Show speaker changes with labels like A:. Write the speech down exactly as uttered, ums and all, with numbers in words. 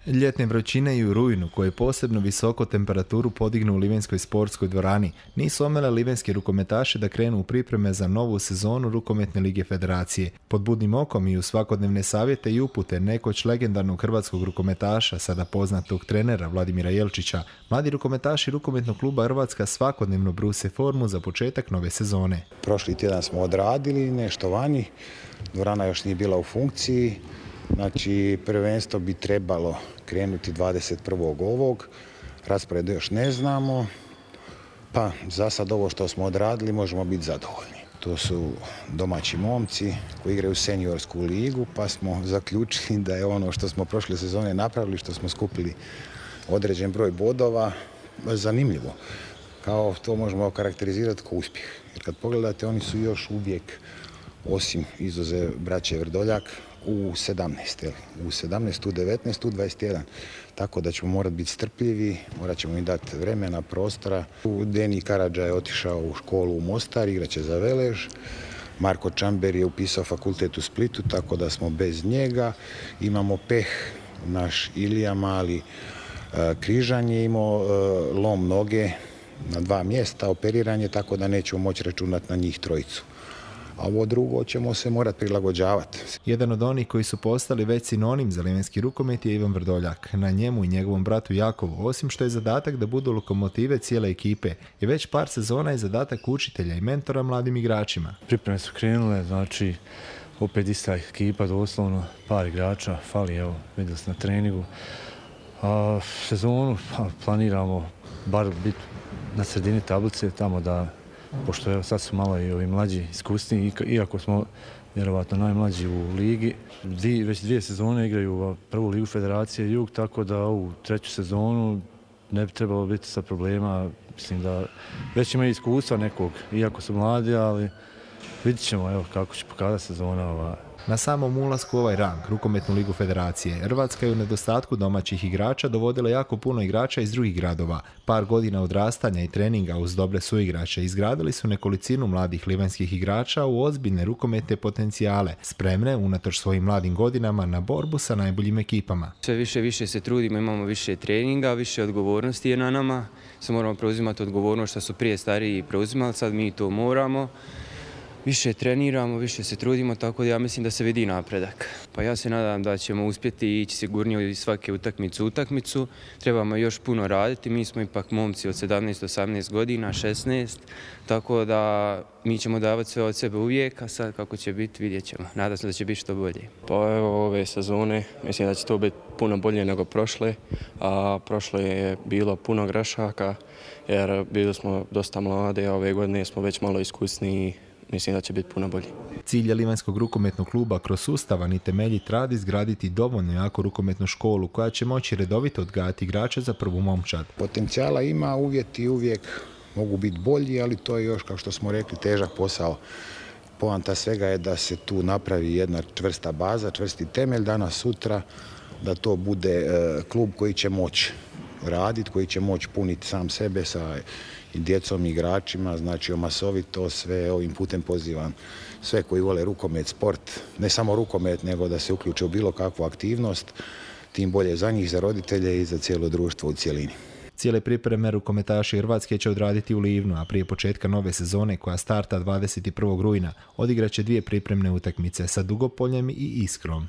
A: Ljetne vrućine i u rujnu, koje posebno visoko temperaturu podignu u Livenskoj sportskoj dvorani, nisu omele livenski rukometaši da krenu u pripreme za novu sezonu Rukometne lige federacije. Pod budnim okom i u svakodnevne savjete i upute nekoć legendarnog hrvatskog rukometaša, sada poznatog trenera Vladimira Jelčića, mladi rukometaši Rukometnog kluba Hrvatska svakodnevno bruse formu za početak nove sezone.
B: Prošli tjedan smo odradili nešto vani, dvorana još nije bila u funkciji. Znači, prvenstvo bi trebalo krenuti dvadeset prvog ovog, raspored još ne znamo, pa za sad ovo što smo odradili možemo biti zadovoljni. To su domaći momci koji igraju seniorsku ligu, pa smo zaključili da je ono što smo prošle sezone napravili, što smo skupili određen broj bodova, zanimljivo. Kao to možemo karakterizirati kao uspjeh. Jer kad pogledate, oni su još uvijek, osim izuzev braće Vrdoljak, u sedamnaest, u sedamnaest, u devetnaest, u dvadeset jedan. Tako da ćemo morati biti strpljivi, morat ćemo im dati vremena, prostora. Deni Karadža je otišao u školu u Mostar, igraće za Velež. Marko Čamber je upisao fakultet u Splitu, tako da smo bez njega. Imamo peh, naš Ilija Mali križan je imao lom noge na dva mjesta, operiranje, tako da nećemo moći računati na njih trojicu. A ovo drugo ćemo se morati prilagođavati.
A: Jedan od onih koji su postali već sinonim za livenski rukomet je Ivan Vrdoljak. Na njemu i njegovom bratu Jakovu, osim što je zadatak da budu lokomotive cijele ekipe, je već par sezona i zadatak učitelja i mentora mladim igračima.
C: Pripreme su krenule, znači opet ista ekipa, doslovno par igrača, fali, evo, vidjeli ste na treningu. A sezonu pa, planiramo bar biti na sredini tablice, tamo da, pošto evo, sad su malo i ovi mlađi iskusni, iako smo vjerovatno najmlađi u ligi. Dvi, već dvije sezone igraju prvu ligu Federacije Jug, tako da ovu treću sezonu ne bi trebalo biti sa problema. Mislim da već imaju iskustva nekog, iako su mladi, ali vidit ćemo evo, kako će pokazati sezona ova.
A: Na samom ulasku u ovaj rang, Rukometnu ligu federacije, Hrvatska je u nedostatku domaćih igrača dovodila jako puno igrača iz drugih gradova. Par godina odrastanja i treninga uz dobre suigrače izgradili su nekolicinu mladih livanjskih igrača u ozbiljne rukometne potencijale, spremne, unatoč svojim mladim godinama, na borbu sa najboljim ekipama.
D: Sve više više se trudimo, imamo više treninga, više odgovornosti je na nama. Sve moramo preuzimati odgovornost što su prije stariji preuzimali, sad mi to moramo. Više treniramo, više se trudimo, tako da ja mislim da se vidi napredak. Pa ja se nadam da ćemo uspjeti ići sigurnije iz svake utakmice u utakmicu. Trebamo još puno raditi, mi smo ipak momci od sedamnaest do osamnaest godina, šesnaest, tako da mi ćemo davati sve od sebe uvijek, a sad kako će biti vidjet ćemo. Nadam se da će biti što bolje.
E: Pa evo ove sezone, mislim da će to biti puno bolje nego prošle, a prošle je bilo puno grešaka, jer bili smo dosta mlade, a ove godine smo već malo iskusniji. Mislim da će biti puno bolji.
A: Cilj je Livanjskog rukometnog kluba kroz sustavan i temeljit rad izgraditi dovoljno jaku rukometnu školu koja će moći redovito odgajati igrače za prvu momčad.
B: Potencijala ima, uvjeti uvijek mogu biti bolji, ali to je još, kao što smo rekli, težak posao. Poanta svega je da se tu napravi jedna čvrsta baza, čvrsti temelj danas sutra, da to bude klub koji će moći raditi, koji će moći puniti sam sebe sa i djecom i igračima, znači omasovito sve ovim putem pozivam sve koji vole rukomet, sport, ne samo rukomet, nego da se uključe u bilo kakvu aktivnost, tim bolje za njih, za roditelje i za cijelo društvo u cjelini.
A: Cijele pripreme rukometaši Hrvatske će odraditi u Livnu, a prije početka nove sezone koja starta dvadeset prvog rujna odigraće dvije pripremne utakmice sa Dugopoljem i Iskrom.